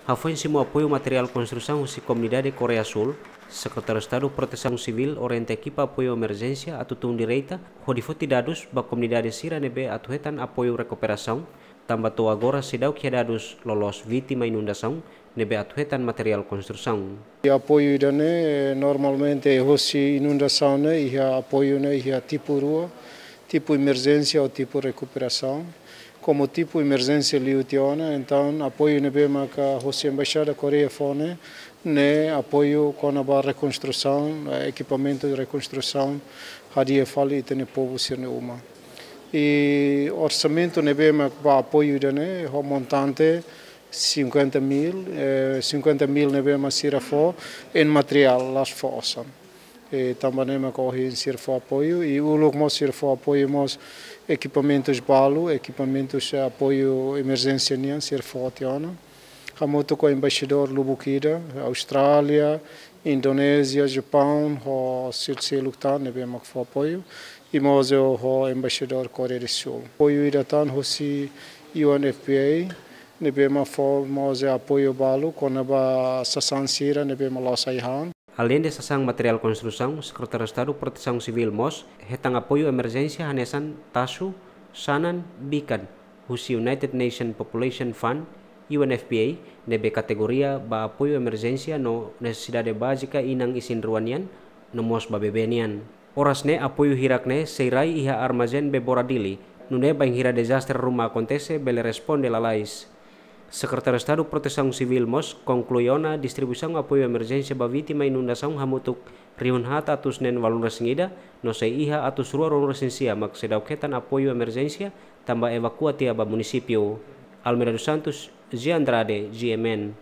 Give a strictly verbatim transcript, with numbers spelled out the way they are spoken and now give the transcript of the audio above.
Hafoin simu apoiu materiál konstrusaun husi komunidade Koreia Súl, Sekretáriu Estadu Protesaun Sivíl orienta ekipa apoiu emerjénsia atu tun direta hodi foti dadus ba komunidade sira ne'ebé atu hetan apoiu rekuperasaun, tanba to'o agora seidauk iha dadus loloos vítima inundasaun ne'ebé atu hetan materiál konstrusaun. Apoiu ida-ne'e, eh, normalmente husi inundasaun ne'e iha apoiu ne'e iha tipu rua, tipu emerjénsia ou tipu rekuperasaun. Komu tipu emerjénsia liu tiha ona, entaun apoiu ne'ebé maka husi Embaixada Koreia fó ne'e, ne'e apoiu kona-ba rekonstrusaun, eh, ekipamentu de rekonstrusaun, hadi'a fali ita-nia povu sira-nia uma. I orsamentu ne'ebé mak ba apoiu ida-ne'e, ho montante cinquenta mil, eh, cinquenta mil ne'ebé mak sira fó, en materiál, la'ós fó osan. Eh, tanba ne'e mak ohin sira fó apoiu, i uluk mós sira fó apoiu mós ekipamentus balu, ekipamentus, eh, apoiu emerjénsia nian, sira fó tiha ona. Hamutuk ho embaixadór lubuk ida, Austrália, Indonézia, Japaun, ho sira seluk tan ne'ebé mak fó apoiu, i mós ho embaixadór Koreia do Súl. Apoiu ida tan husi U N F P A, ne'ebé mak fó mós apoiu balu, kona-ba sasán sira ne'ebé mak loos ai-han. Aleinde sasán materiál konstrusaun, Sekretáriu Estadu Protesaun Sivíl mós hetan apoiu emerjénsia hanesan taxu, sanan, bikan, husi United Nations Population Fund, U N F P A, ne'ebé kategoria ba apoiu emerjénsia no nesesidade bázika inan isin-rua nian, no mós ba bebé nian. Oras ne'e apoiu hirak-ne'e sei rai iha armazén Bebora Dili, nune'e bainhira dezastre ruma akontese bele responde lalais. Sekretáriu Estadu Protesaun Sivíl mós konklui ona distribuisaun apoiu emerjénsia ba vítima inundasaun hamutuk rihun haat atus neen ualunulu-resin-ida, no sei iha atus rua ruanulu-resin-sia mak seidauk hetan apoiu emerjénsia, tanba evakua tiha ba munisípiu. Almeida dos Santos, G Andrade, G M N.